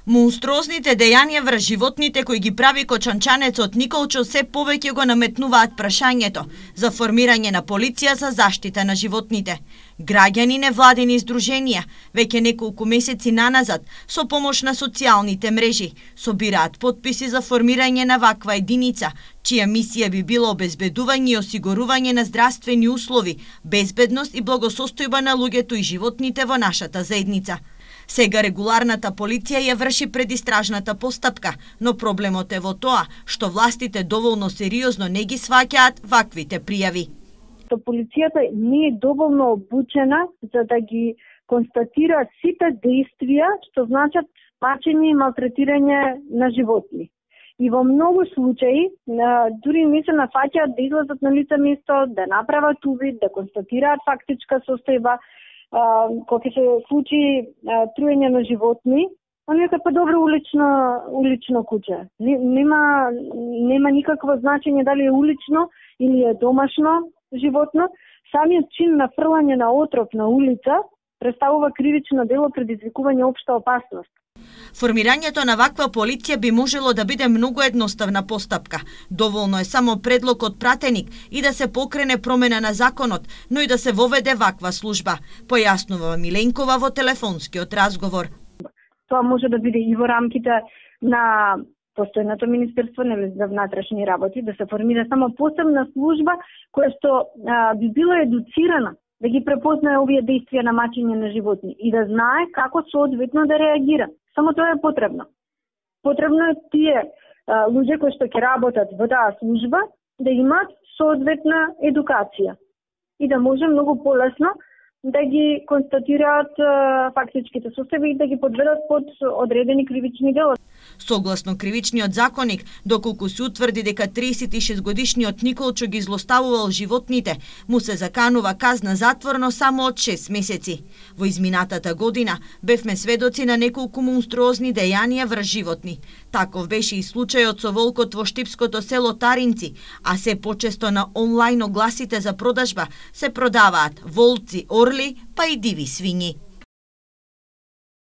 Монструозните дејанија врз животните кои ги прави кочанчанецот Николчо се повеќе го наметнуваат прашањето за формирање на полиција за заштита на животните. Граѓани невладини издруженија веќе неколку месеци наназад со помош на социјалните мрежи собираат потписи за формирање на ваква единица, чија мисија би било обезбедување и осигурување на здравствени услови, безбедност и благосостојба на луѓето и животните во нашата заедница. Сега регуларната полиција ја врши предистражната постапка, но проблемот е во тоа што властите доволно сериозно не ги сваќаат ваквите пријави. Полицијата не е доволно обучена за да ги констатира сите действија што значат мачење и малтретирање на животни. И во многу случаи дури не се нафаќаат да излезат на лице место, да направат увид, да констатираат фактичка состојба. Кога се случи труење на животни, они е па добро улично куќе. Нема никакво значење дали е улично или е домашно животно. Самиот чин на фрлање на отров на улица представува кривично дело предизвикување општа опасност. Формирањето на ваква полиција би можело да биде многу едноставна постапка. Доволно е само предлог од пратеник и да се покрене промена на законот, но и да се воведе ваква служба, појаснува Миленкова во телефонскиот разговор. Тоа може да биде и во рамките на постојното Министерство за внатрешни работи, да се формира само посебна служба која што би била едуцирана да ги препознае овие действија на мачење на животни и да знае како соодветно да реагира. Само тоа е потребно. Потребно е тие луѓе кои што ќе работат во таа служба да имаат соодветна едукација и да може многу полесно да ги констатираат фактичките состојби и да ги подведат под одредени кривични дела. Согласно кривичниот законник, доколку се утврди дека 36-годишниот Николчо ги злоставувал животните, му се заканува казна затворно само од 6 месеци. Во изминатата година бевме сведоци на неколку монструозни дејанија врз животни. Таков беше и случајот со волкот во штипското село Таринци, а се почесто на онлайн огласите за продажба се продаваат волци, орли, па и диви свињи.